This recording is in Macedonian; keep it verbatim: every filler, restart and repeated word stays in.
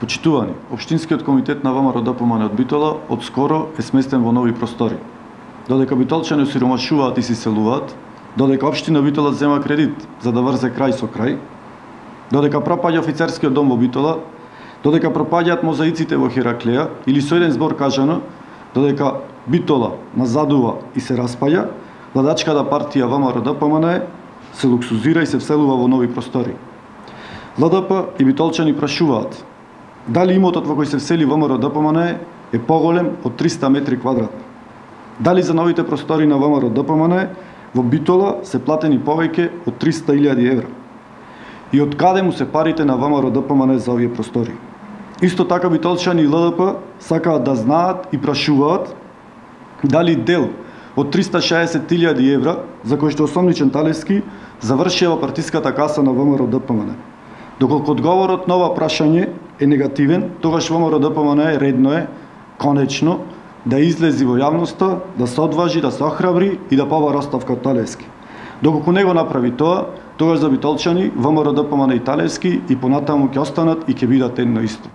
Почитувани, Општинскиот комитет на ВМРО Д П М Н од Битола од скоро е сместен во нови простори. Додека битолчани осиромашуваат и се селуваат, додека Општина Битола зема кредит за да врзе крај со крај, додека пропаѓа офицерскиот дом во Битола, додека пропаѓаат мозаиците во Хераклеја или со еден збор кажано, додека Битола назадува и се распаѓа, владачката партија ВМРО Д П М Н се луксузира и се вселува во нови простори. Л Д П и битолчани прашуваат дали имотот во кој се всели ВМРО Д П М Н е поголем од триста метри квадратни. Дали за новите простори на ВМРО Д П М Н во Битола се платени повеќе од триста илјади евра. И од каде му се парите на ВМРО Д П М Н за овие простори? Исто така битолчани и Л Д П сакаат да знаат и прашуваат дали дел од триста шеесет илјади евра, за кој што Осомничен Талевски завршија во партиската каса на ВМРО Д П М Н. Доколку одговорот на ова прашање е негативен, тогаш ВМРО Д П М Н редно е, конечно, да излези во јавноста, да се одважи, да се охрабри и да побара оставка од Талевски. Доколку не го направи тоа, тогаш за битолчани ВМРО Д П М Н и Талевски и понатаму ќе останат и ќе бидат едно исто.